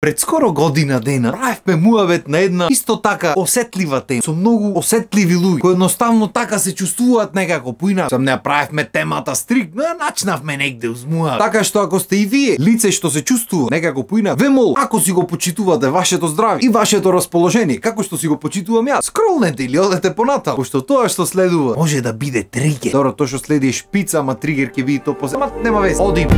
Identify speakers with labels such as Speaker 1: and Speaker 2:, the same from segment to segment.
Speaker 1: Пред скоро година дена правевме муавет на една исто така осетлива тема со многу осетливи луѓе кои едноставно така се чувствуваат некако поинак. Сам не правевме темата стрикно, начнавме негде уз муавет. Така што ако сте и вие лице што се чувствува некако поинак, ве мол, ако си го почитувате вашето здравје и вашето расположение, како што си го почитувам јас, скролнете или одете понатаму, пошто тоа што следува може да биде тригер. Добро, тоа што следи е шпица, ама тригер ќе биде тоа после. Ама нема везе. Одим.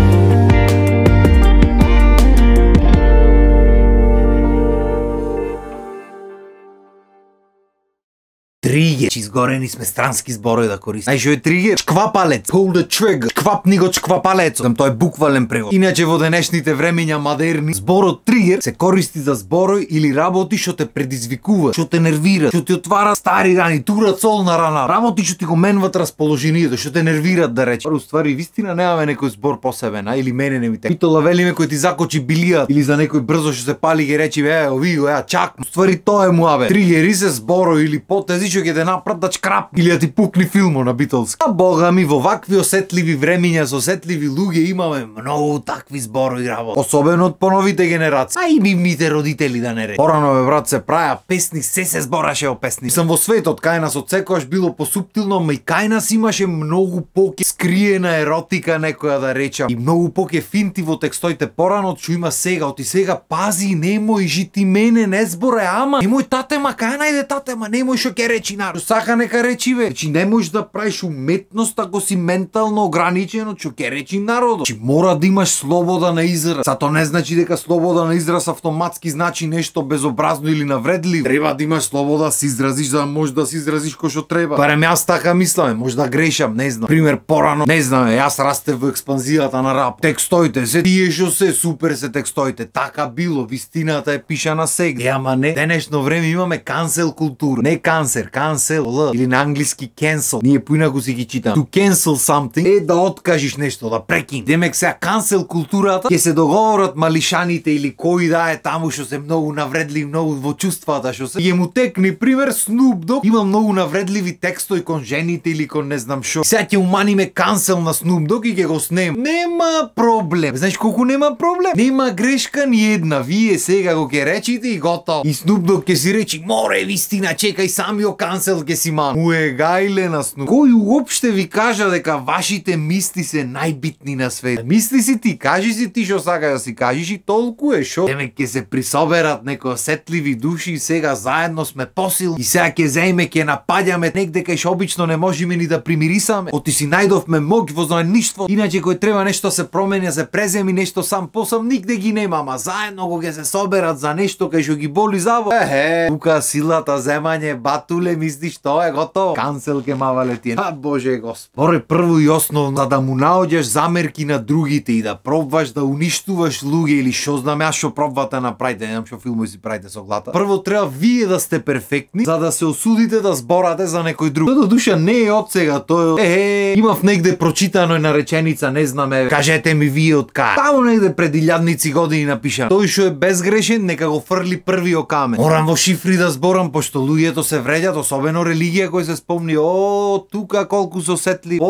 Speaker 1: Тригер. Изгорени сме странски зборови да користиме. Знаеш што е тригер? Чквапалец. Pull the trigger. Чквапни го чквапалецот. Тоа е буквален превод. Иначе во денешните времења модерни, зборот тригер се користи за зборови или работи што те предизвикува, што те нервира, што ти отвара стари рани, турат сол на рана. Работи што ти го менват расположението, што те нервират да рече. Уствари вистина немаме некој збор посебен, или мене не ми те. Питола велиме кој ти закочи билија или за некој брзо што се пали ги речи ови го чак. Уствари тоа е муабе. Тригери се зборови или потези што ќе те напрат да чкрап или да ти пукни филмо на Битолс. А бога ми, во вакви осетливи времења со осетливи луѓе имаме многу такви зборови работи. Особено од поновите генерации. А и нивните родители да не рече. Порано бе брат се праја песни, се збораше о песни. Сам во светот кај нас од секогаш било посуптилно, ма и кај нас имаше многу поке скриена еротика некоја да речам и многу поке финти во текстоите порано што има сега. Оти сега пази, немој жити мене, не зборе ама. Немој татема, кај најде татема, немој што ќе речи народ. Сака нека речи бе. Значи не можеш да правиш уметност ако си ментално ограничено, што ќе речи народот. Значи мора да имаш слобода на израз. Сато не значи дека слобода на израз автоматски значи нешто безобразно или навредливо. Треба да имаш слобода да се изразиш, за да можеш да се изразиш кој што треба. Барем јас така мислам, може да грешам, не знам. Пример порано, не знам, јас растев во експанзијата на рап. Текстоите се тие што се супер се текстоите. Така било, вистината е пишана сега. Ама не, денешно време имаме кансел култура. Не кансер, кансел или на англиски cancel. Ние поинаку си ги читам. To cancel something е да откажиш нешто, да прекинеш. Демек сега cancel културата ќе се договорат малишаните или кои да е таму што се многу навредливи, многу во чувствата што се. Ја му текни пример Snoop Dogg има многу навредливи текстови кон жените или кон не знам што. Сега ќе уманиме cancel на Snoop Dogg и ќе го снем. Нема проблем. Знаеш колку нема проблем? Нема грешка ни една. Вие сега го ќе речите и готово. И Snoop Dogg ќе си речи море вистина, чекај самиот cancel ќе си ман. Уегајле на Snoop. Кој уопште ви кажа дека вашите мисли се најбитни на свет? Мисли си ти, кажи си ти што сакаш да си кажеш и толку е шо. Демек ќе се присоберат некои осетливи души и сега заедно сме посилни. И сега ќе земеме, ќе напаѓаме негде кај што обично не можеме ни да примирисаме. Оти си најдовме моќ во заедништво. Иначе кој треба нешто се промени, се преземи нешто сам посам, нигде ги нема, ама заедно го ќе се соберат за нешто кај што ги боли заво. Тука силата земање батуле, мислиш тоа е готово. Кансел ке мавале тие. А боже господ. Море прво и основно за да му наоѓаш замерки на другите и да пробваш да уништуваш луѓе или што знам јас што пробвате направите, не знам што филмови си правите со глата. Прво треба вие да сте перфектни за да се осудите да зборате за некој друг. Тоа душа не е од сега, тоа имав негде прочитано една реченица, не знам кажете ми вие од кај. Таму негде пред илјадници години напишано. Тој што е безгрешен нека го фрли првиот камен. Морам во шифри да зборам пошто луѓето се вреѓат, особено религија кој се спомни, тука колку се осетли.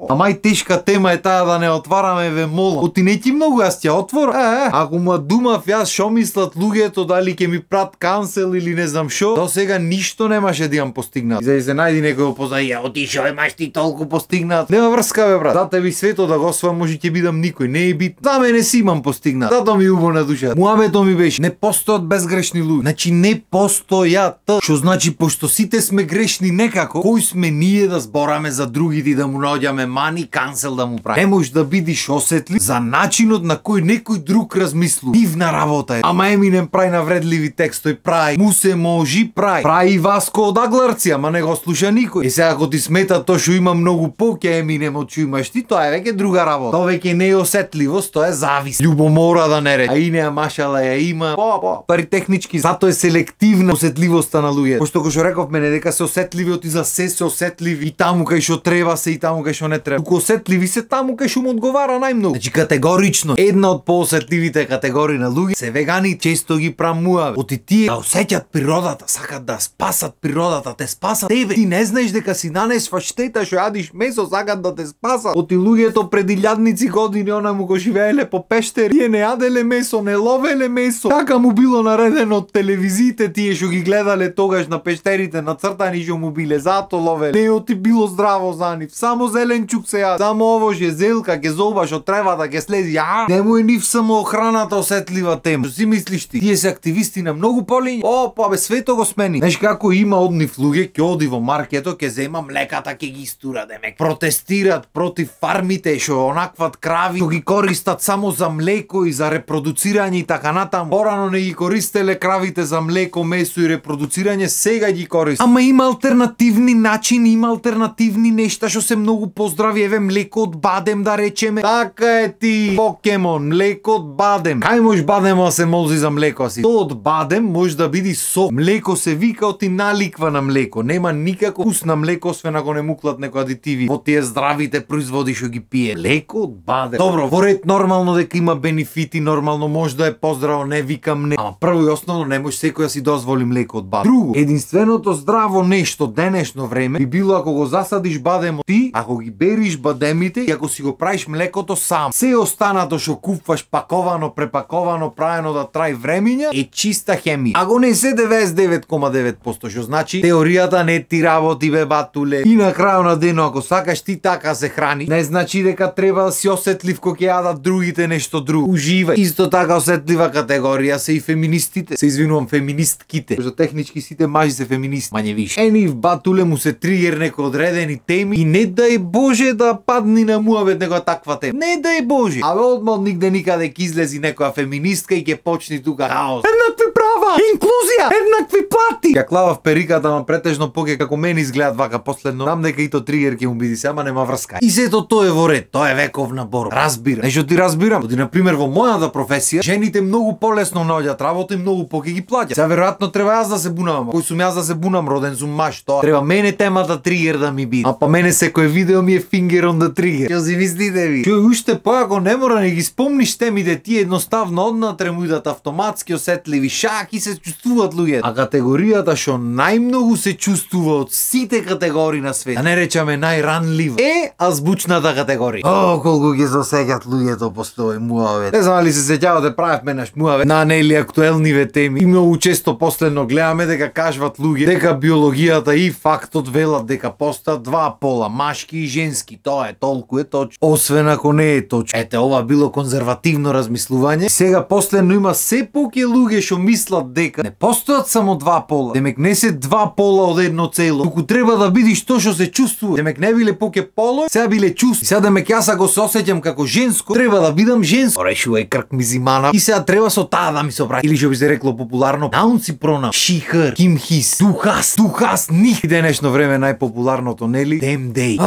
Speaker 1: Ама и тешка тема е таа да не отвараме ве молам. Оти не ти многу јас ќе отворам. Ако ма думав јас што мислат луѓето дали ќе ми прат кансел или не знам што, до сега ништо немаше да имам постигнат. За да се најди некој опознај, оти што имаш ти толку постигнат. Нема врска бе брат. Дате ви свето да го освојам, може ќе бидам никој, не е бит. За мене си имам постигнат. Зато ми убо на душа. Муабето ми беше, не постојат безгрешни луѓе. Значи не постојат. Што значи пошто сите сме грешни некако, кој сме ние да збораме за другите и да му наоѓаме мани, кансел да му прави. Не можеш да бидиш осетлив за начинот на кој некој друг размислува. Дивна работа е. Ама Еминем прави навредливи текстови, прави му се можи, прави Васко од Агларци, ама не го слуша никој. И сега ако ти смета тоа што има многу поќе Еминем од што имаш ти, тоа е веќе друга работа. Тоа веќе не е осетливост, тоа е завис. Љубомора да не рече. А и неа машала ја има. Пари технички, затоа е селективна осетливоста на луѓе. Пошто кој што реков зборувавме не дека се осетливи оти за се осетливи и таму кај што треба се и таму кај што не треба. Туку осетливи се таму кај што му одговара најмногу. Значи категорично една од поосетливите категории на луѓе се вегани, често ги прамуваме. Оти тие да осеќаат природата, сакат да спасат природата, те спасат тебе. Ти не знаеш дека си нанесваш штета што јадиш месо, сакат да те спасат. Оти луѓето преди илјадници години онаму го живееле по пештери, тие не јаделе месо, не ловеле месо. Така му било наредено од телевизиите, тие што ги гледале тогаш на пештерите нацртани што му биле, зато ловеле. Не оти било здраво за нив. Само зеленчук се јаде. Само ово ше зелка ќе зобаш од тревата ќе слези. Не му е нив само охраната осетлива тема. Што си мислиш ти? Тие се активисти на многу полиња. Па бе, свето го смени. Знаеш како има од нив луѓе ќе оди во маркето, ќе зема млеката, ќе ги истура, демек протестираат против фармите што онакват крави, што ги користат само за млеко и за репродуцирање и така натаму. Порано не ги користеле кравите за млеко, месо и репродуцирање, сега ги користат. Ама има алтернативни начини, има алтернативни нешта што се многу поздрави. Еве млеко од бадем да речеме. Така е ти, покемон, млеко од бадем. Кај може бадемо да се молзи за млеко си? То од бадем може да биде сок. Млеко се вика оти наликва на млеко. Нема никако вкус на млеко освен ако не муклат некои адитиви во тие здравите производи што ги пие. Млеко од бадем. Добро, во ред нормално дека има бенефити, нормално може да е поздраво, не викам не. Ама прво и основно не може секој да си дозволи млеко од бадем. Друго, единственото здраво нешто денешно време би било ако го засадиш бадемот ти, ако ги бериш бадемите и ако си го правиш млекото сам. Се останато што купуваш паковано, препаковано, правено да трај времиња е чиста хемија. Ако не се 99,9%, што значи теоријата не ти работи бе батуле. И на крајот на денот ако сакаш ти така се храни, не значи дека треба да си осетлив кога ќе јадат другите нешто друго. Уживај. Исто така осетлива категорија се и феминистите. Се извинувам, феминистките. Што технички сите мажи се феминисти, мање више. Нив батуле му се тригер некои одредени теми и не дај Боже да падни на муавет некоја таква тема. Не дај Боже. Абе одма од нигде никаде ќе излези некоја феминистка и ќе почни тука хаос. Еднакви права, инклузија, еднакви плати. Ја клавав периката, ама претежно поке како мене изгледат вака последно. Знам дека и то тригер ќе му биде се, ама нема врска. И сето тоа е во ред, тоа е вековна борба. Разбира. Нешто ти разбирам. Оди на пример во мојата професија, жените многу полесно наоѓаат работа и многу поке ги плаќаат. Сега веројатно треба јас да се бунам. Кој сум јас да се бунам, роден сум маж, тоа. Треба мене темата тригер да ми биде. А па мене секој видео ми е finger on the trigger. Што си мислите ви? Што уште поако не мора не ги спомниш темите, ти едноставно однатре му идат автоматски осетливи шак и се чувствуваат луѓе. А категоријата што најмногу се чувствува од сите категории на свет, да не речеме најранлива, е азбучната категорија. Колку ги засеќат луѓето после овој муавет. Не знам ли се сеќавате, правевме наш муавет на нели актуелниве теми. И многу често последно гледаме дека кажуват луѓе дека биологијата и фактот велат дека постојат два пола, машки и женски. Тоа е толку е точно. Освен ако не е точно. Ете, ова било конзервативно размислување. Сега последно има се поќе луѓе што мислат дека не постојат само два пола. Демек не се два пола од едно цело. Туку треба да бидиш тоа што се чувствува. Демек не биле поќе поло, сега биле чувство. И сега демек јас ако се осеќам како женско, треба да бидам женско. Решувај крк ми зимана. И сега треба со таа да ми се обраќа. Или што би се рекло популарно, наунци пронам. She, her, him, his. Тухас, них. И денешно време најпопуларното, нели? Them, they.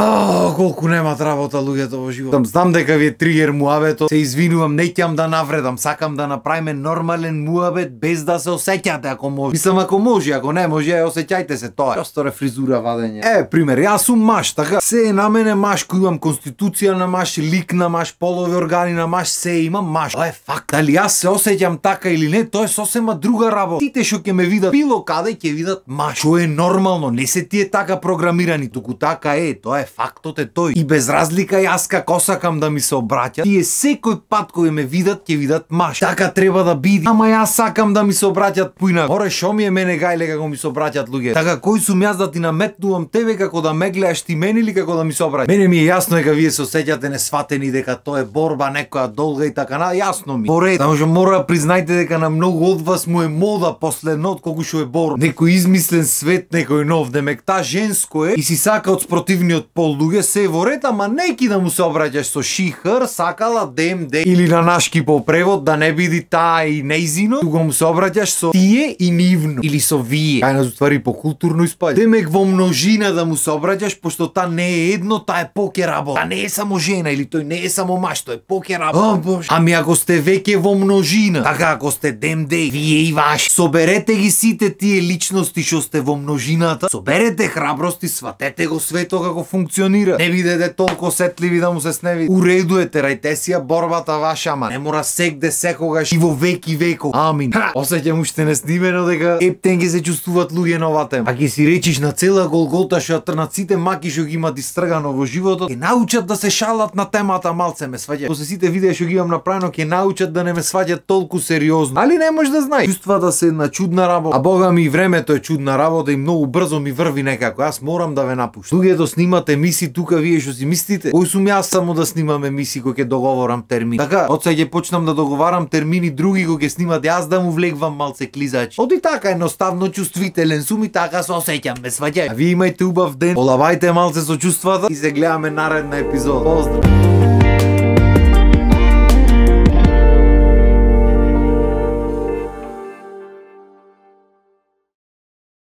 Speaker 1: Колку немат работа луѓето во живот. Знам дека ви е тригер муабето. Се извинувам, не ќам да навредам. Сакам да направиме нормален муабет без да се осеќате ако може. Мислам ако може, ако не може, осеќајте се тоа. Просто фризура вадење. Пример, јас сум маж, така. Се е на мене маж, кој имам конституција на маж, лик на маж, полови органи на маж, се имам маж. Тоа е факт. Дали јас се осеќам така или не, тоа е сосема друга работа. Тите што ќе ме видат било каде ќе видат маж. Што е нормално, не се тие така програмирани, туку така е, тоа е фактот е тој. И без разлика јас како сакам да ми се обраќат, тие секој пат кој ме видат ќе видат маж. Така треба да биде. Ама јас сакам да ми се обраќат поинак. Оре шо ми е мене гајле како ми се обраќат луѓе. Така кој сум јас да ти наметнувам тебе како да ме гледаш ти мене или како да ми се обраќаш? Мене ми е јасно дека вие се осеќате несватени дека тоа е борба некоја долга и така на јасно ми. Поред, само што мора да признајте дека на многу од вас му е мода последно отколку што е борба. Некој измислен свет, некој нов, демек та женско е и си сака од спротивниот пол луѓе се во ред, ама неки да му се обраќаш со she, her, сакала them, they или на нашки по превод да не биде таа и нејзино, туку му се обраќаш сообраќаш со тие и нивно или со вие. Кај нас уствари по културно испаѓа. Демек во множина да му сообраќаш, пошто та не е едно, та е поќе работа. Та не е само жена или тој не е само маж, тој е поќе работа. О боже. Ами ако сте веќе во множина, така ако сте демдей, вие и ваши, соберете ги сите тие личности што сте во множината, соберете храброст и сватете го свето како функционира. Не бидете толку сетливи да му се сневи. Уреду е, терајте си ја борбата ваша, ама не мора сегде секогаш и во веки веков. Амин. Осеќам уште не снимено дека ептен ги се чувствуваат луѓе на оваа тема. А ќе си речиш на цела Голгота што на сите маки што ги имат истргано во животот, ќе научат да се шалат на темата малце ме сваѓа. После сите видеа што ги имам направено ќе научат да не ме сваѓаат толку сериозно. Али не можеш да знаеш. Чувствата се една чудна работа. А бога ми времето е чудна работа и многу брзо ми врви некако. Јас морам да ве напуштам. Луѓето снимате емисии тука, вие што си мислите? Кој сум јас само да снимам емисии кога ќе договорам термин. Така, од сега ќе почнам да договарам термини други кога ќе снимат јас да му влегвам малце клизач. Оди така едноставно чувствителен сум и така се осеќам, ме сваѓај. А вие имајте убав ден, олавајте малце со чувствата и се гледаме наредна епизода. Поздрав.